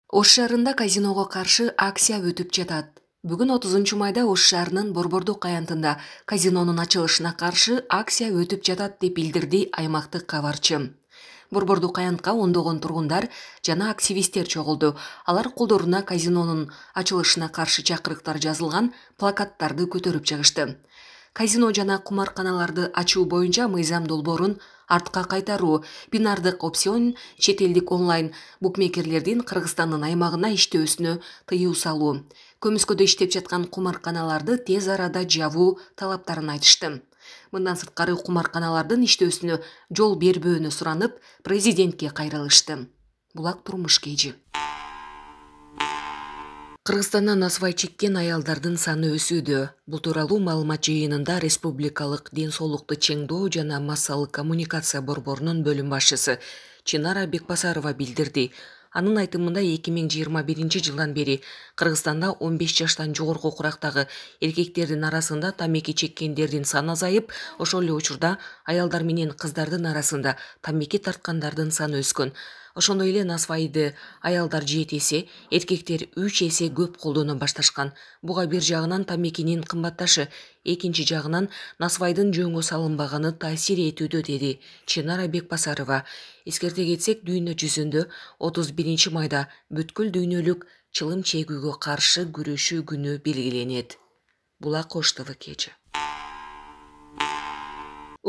Ош шаарында казиного каршы акция өтүп жатат. Бүгүн 30 майда Ош шаарынын Борбордук аянтында казинонун ачылышына каршы акция өтүп жатат деп билдирди аймактык кабарчы. Борбордук аянтка ондогон тургундар жана активисттер чогулду. Алар колдоруна казинонун ачылышына каршы чакырыктар жазылган плакаттарды көтөрүп чыгышты. Казино жана кумарканаларды ачуу боюнча мыйзам долбоорун артка кайтаруу, бинардык опцион, чет элдик онлайн букмекерлердин Кыргызстандын аймагына иштөөсүнө тыюу салуу, көмүскөдө иштеп жаткан кумарканаларды тез арада жабуу талаптарын айтышты. Мындан сырткары кумарканалардын иштөөсүнө жол бербөөнү суранып, президентке кайрылышты. Булак турмуш кежи. Кыргызстанда насыбай чеккен аялдардын саны өсүүдө. Бул тууралуу маалымат жыйынында Республикалык ден соолукту чыңдоо жана массалык коммуникация борборунун бөлүм башчысы Чынара Бекбасарова билдирди. Анын айтымында 2021 жылдан бери Кыргызстанда 15 жаштан жогорку курактагы эркектердин арасында тамеки чеккендердин саны азайып, ошол эле учурда аялдар менен кыздардын арасында тамеки тарткандардын саны өскөн. Ошондой эле насыбайды аялдар 7 эсе, эркектер 3 эсе көп колдоно башташкан. Буга бир жагынан тамекинин кымбатташы, экинчи жагынан насыбайдын жөнгө салынбаганы таасир этүүдө, деди Чынара Бекбасарова. Эскерте кетсек, дүйнө жүзүндө 31-майда бүткүл дүйнөлүк чылым чегүүгө каршы күрөшүү күнү белгиленет. Булак Ош ТВ кечи.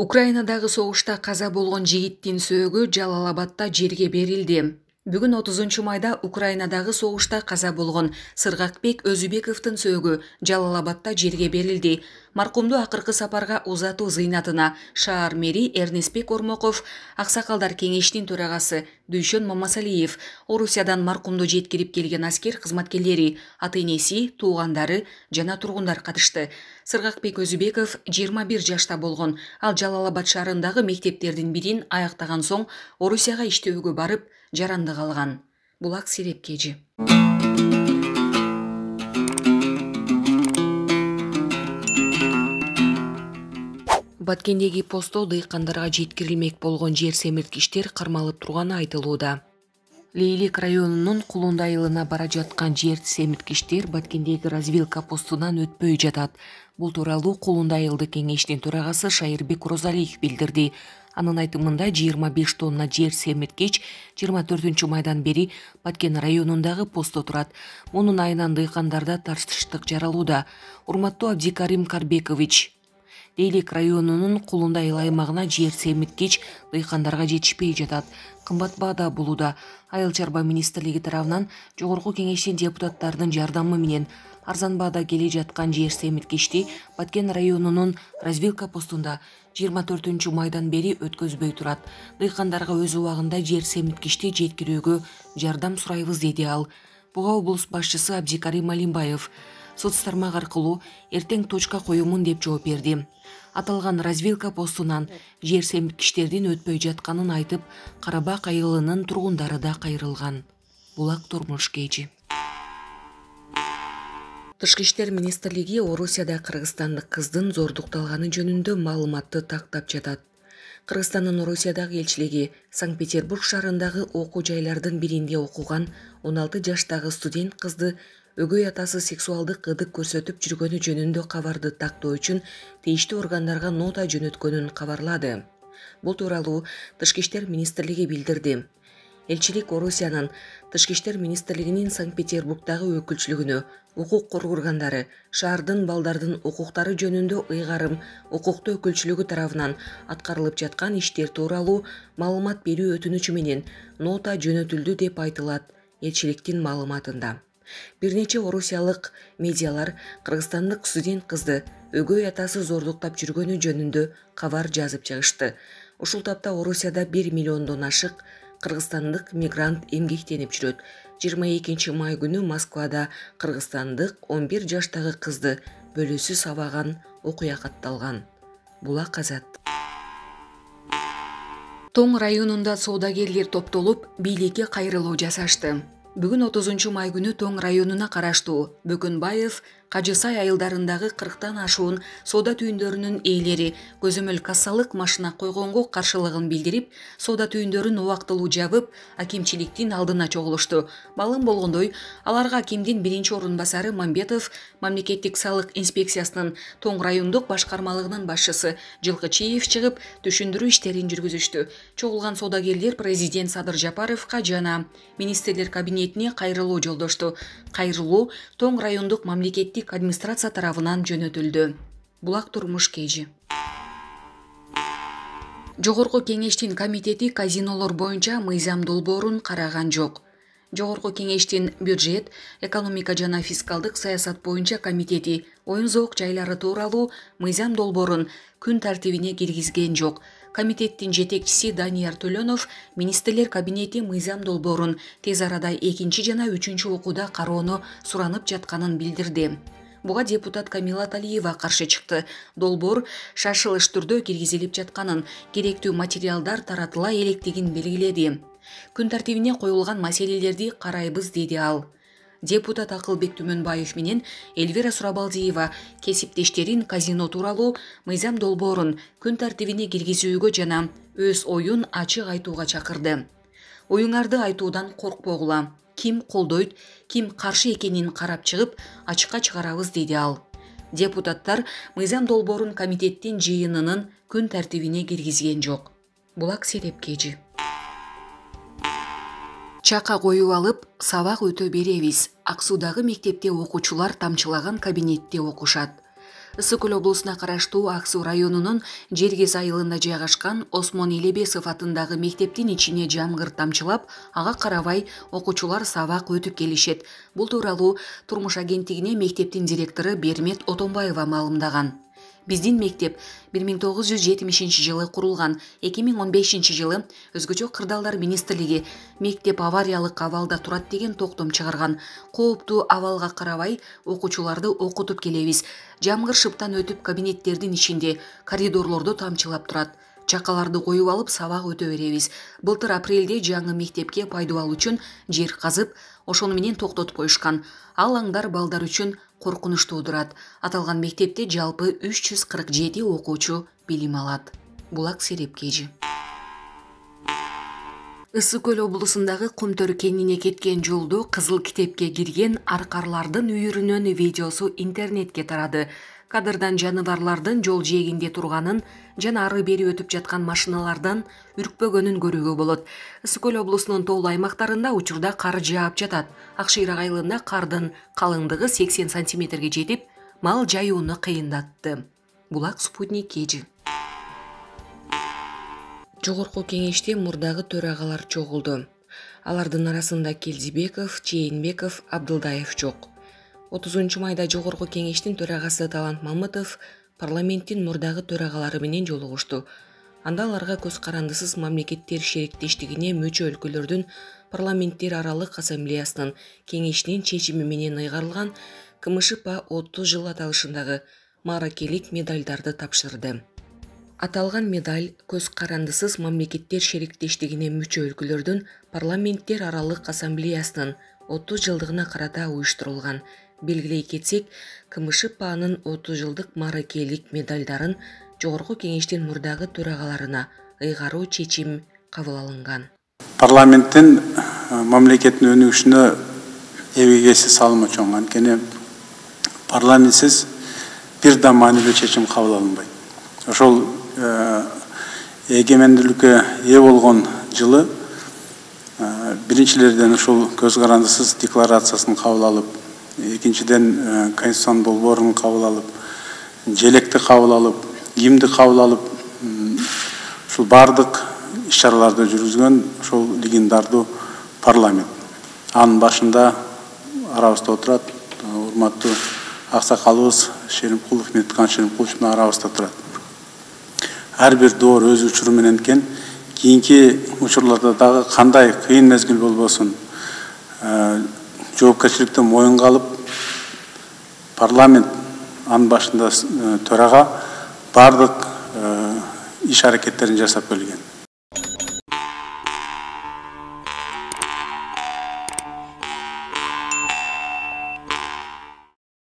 Украинадагы согушта каза болгон жигиттин сөөгү Жалал-Абадда жерге берилди. Бүгүн 30-майда Украинадагы согушта каза болгон Сыргакбек Өзүбековдун сөөгү Жалал-Абадда жерге берилди. Маркумду акыркы сапарга узатуу зыйнатына шаар мэри Эрнестбек Ормоков, Аксакалдар кеңешинин төрагасы Дүйшөн Мамасалиев, Орусиядан маркумду жеткирип келген аскер кызматкерлери, ата-энеси, туугандары жана тургундар катышты. Сыргакбек Өзүбеков 21 жашта болгон. Ал Жалал-Абад шаарындагы мектептердин бирин аяктаган соң Орусияга иштөөгө барып, жарандык алган. Булак Сиреп кежи. Баткендеги посто дыйкандарга жеткирилмек болгон жер семирткичтер кармалып турганы айтылууда. Лейлик районунун Кулунда айылына бара жаткан жер семирткичтер Баткендеги развилка постунан өтпөй жатат. Бул тууралуу Кулунда айылдык кеңешинин төрагасы Шайырбек Розалиев билдирди. Анын айтымында 25 тонна жер семирткич 24-майдан бери Баткен районундагы посто турат. Мунун айынан дыйкандарда тартыштык жаралууда. Урматтуу Абдикарим Карбекович, Лейлик районунун Кулунда айыл аймагына жер семирткич дыйкандарга жетишпей жатат. Кымбат баада болууда. Айыл чарба министрлиги тарабынан жогорку кеңештин депутаттарынын жардамы менен арзан баада келе жаткан жер семирткичти Баткен районунун развилка постунда 24-майдан бери өткөзбөй турат. Дыйкандарга өз убагында жер семирткичти жеткирүүгө жардам сурайбыз, деди ал. Буга облус башчысы Абдикарим Алимбаев соц тармак аркылуу эртең точка коюмун деп жооп берди. Аталган развилка постунан жер семирткичтердин өтпөй жатканын айтып, Карабак айылынын тургундары да кайрылган. Булак турмуш кежи. Тышкы иштер министрлиги Орусияда кыргызстандык кыздын зордукталганы жөнүндө маалыматты тактап жатат. Кыргызстандын Орусиядагы элчилиги Санкт-Петербург шаарындагы окуу жайлардын биринде окуган 16 жаштагы студент кызды өгөй атасы сексуалдык ырдык көрсөтүп жүргөнү жөнүндө кабарды тактоо үчүн тийиштүү органдарга нота жөнөткөнүн кабарлады. Бул тууралуу Тышкы иштер министрлиги билдирди. Элчилик Орусиянын Тышкы иштер министрлигинин Санкт-Петербургдагы өкүлчүлүгүнө укук коргоо органдары, шаардын балдардын укуктары жөнүндө ыйгарым укуктуу өкүлчүлүгү тарабынан аткарылып жаткан иштер тууралуу маалымат берүү өтүнүчү менен нота жөнөтүлдү деп айтылат элчиликтин маалыматында. Бир нече орусиялык медиалар кыргызстандык студент кызды өгөй атасы зордуктап жүргөнү жөнүндө кабар жазып чыгышты. Ушул тапта Орусияда 1 миллиондон ашык кыргызстандык мигрант эмгектенип жүрөт. 22-май күнү Москвада кыргызстандык 11 жаштагы кызды бөлөсү сабаган окуя катталган. Булак Азат. Тоң районунда соодагерлер топтолуп, бийликке кайрылуу жасашты. Бүгүн 30-май күнү Тоң районуна караштуу Бөкөнбаев Кажы Сай айылдарындагы 40тан ашуун соода түйүндөрүнүн ээлери көзөмөл кассалык машина койгонго каршылыгын билдирип, соода түйүндөрүн убактылуу жабып, акимчиликтин алдына чогулушту. Маалым болгондой, аларга акимдин биринчи орун басары Мамбетов, мамлекеттик салык инспекциясынын Тоң райондук башкармалыгынын башчысы Жылкычиев чыгып, түшүндүрүү иштерин жүргүзүштү. Чогулган соодагерлер президент Садыр Жапаровго жана министрлер кабинетине кайрылуу жолдошту. Кайрылуу Тоң райондук мамлекеттик администрация тарабынан жөнөтүлдү. Булак Турмуш Кежи. Жогорку кеңештин комитети казинолор боюнча мыйзам долбоорун караган жок. Жогорку кеңештин бюджет, экономика жана фискалдык саясат боюнча комитети оюн-зоок жайлары тууралуу мыйзам долбоорун күн тартибине киргизген жок. Комитеттин жетекчиси Данияр Төлөнов министрлер кабинети мыйзам долбоорун тез арада экинчи жана үчүнчү окууда кароону суранып жатканын билдирди. Буга депутат Камила Талиева каршы чыкты. Долбоор шашылыш түрдө киргизилип жатканын, керектүү материалдар таратыла электигин белгиледи. Күн тартибине коюлган маселелерди карайбыз, деди ал. Депутат Акылбек Түмөнбаев менен Эльвира Сурабалдиева кесиптештерин казино тууралуу мыйзам долбоорун күн тартибине киргизүүгө жана өз оюн ачык айтууга чакырды. Оюңарды айтуудан коркпогула. Ким колдойт, ким каршы экенин карап чыгып, ачыкка чыгарабыз, деди ал. Депутаттар мыйзам долбоорун комитеттин жыйынынын күн тартибине киргизген жок. Булак Серепкежи. Чака коюп алып, сабак өтө беребиз. Ак Суудагы мектепте окуучулар тамчылаган кабинетте окушат. Ысык Көл облусуна караштуу Ак Суу районунун Жергез айылында жайгашкан Осмон Элебесов атындагы мектептин ичине жамгыр тамчылап, ага карабай окуучулар сабак өтүп келишет. Бул тууралуу Турмуш агенттигине мектептин директору Бермет Отонбаева маалымдаган. Биздин мектеп 1970-жылы курулган, 2015-жылы Өзгөчө кырдаалдар министрлиги мектеп авариялык абалда турат деген токтом чыгарган. Кооптуу абалга карабай окуучуларды окутуп келебиз. Жамгыр шыптан өтүп кабинеттердин ичинде, коридорлордо тамчылап турат. Чакаларды коюп алып сабак өтө беребиз. Былтыр апрелде жаңы мектепке пайдубал үчүн жер казып, ошону менен токтотуп коюшкан. Ал аңдар балдар үчүн коркунуч туудурат. Аталган мектепте жалпы 347 окуучу билим алат. Булак Серепкежи. Ысык Көл облусундагы Кумтөр кенине кеткен жолдо Кызыл китепке кирген аркарлардын үйүрүнүн видеосу интернетке тарады. Кадрдан жаныбарлардын жол жээгинде турганын жана ары бери өтүп жаткан машиналардан үркпөгөнүн көрүүгө болот. Ысык Көл облусунун тоолуу аймактарында учурда кар жаап жатат. Ак Шыйрак айылында кардын калыңдыгы 80 сантиметрге жетип, мал жаюуну кыйындатты. Булак Спутник Кежи. Жогорку кеңеште мурдагы төрагалар чогулду. Алардын арасында Келдибеков, Чейинбеков, Абдылдаев жок. 30-майда Жогорку кеңештин төрагасы Талант Мамытов парламенттин мурдагы төрагалары менен жолугушту. Анда аларга көз карандысыз мамлекеттер шериктештигине мүчө өлкөлөрдүн парламенттер аралык ассамблеясынын кеңешинин чечими менен ыйгарылган КМШП 30 жыл аталышындагы мааракелик медальдарды тапшырды. Аталган медаль көз карандысыз мамлекеттер шериктештигине мүчө өлкөлөрдүн парламенттер аралык ассамблеясынын 30 жылдыгына карата уюштурулган. Белгилей кетсек, КМШПнын 30 жылдык мааракелик медальдарын Жогорку кеңештин мурдагы төрагаларына ыйгаруу чечим кабыл алынган. Парламенттин мамлекеттин өнүгүшүнө эбегеси салымы чоң. Анткени парламентсиз бир да маанилүү чечим кабыл алынбайт. Ошол эгемендүүлүккө ээ болгон жылы биринчилерден ушул көз карандысыз декларациясын кабыл алып, экинчиден конституциянын долбоорун кабыл алып, желекти кабыл алып, гимнди кабыл алып, ушул бардык иш-чараларды жүргүзгөн ошол легендардуу парламент. Анын башында арабызда отурат урматтуу аксакалыбыз Шеримкулов, Меткан Шеримкулович арабызда турат. Ар бир доор өз учуру менен экен. Кийинки учурларда дагы кандай кыйын мезгил болбосун жоопкерчиликти моюнга алып, парламент анын башында төрага бардык иш аракеттерин жасап келген.